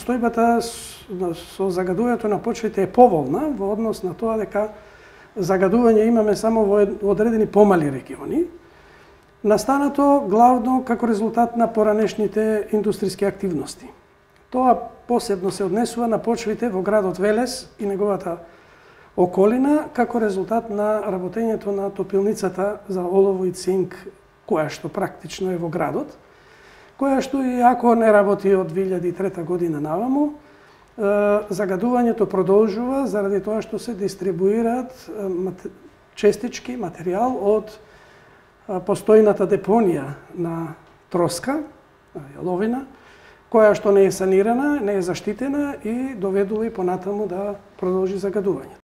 состојбата со загадувањето на почвите е поволна во однос на тоа дека загадување имаме само во одредени помали региони, настанато главно како резултат на поранешните индустријски активности. Тоа посебно се однесува на почвите во градот Велес и неговата околина, како резултат на работењето на топилницата за олово и цинк, која што практично е во градот, која што и ако не работи од 2003 година наваму, загадувањето продолжува заради тоа што се дистрибуираат честички материјал од постојната депонија на троска, јаловина, која што не е санирана, не е заштитена и доведува и понатаму да продолжи загадувањето.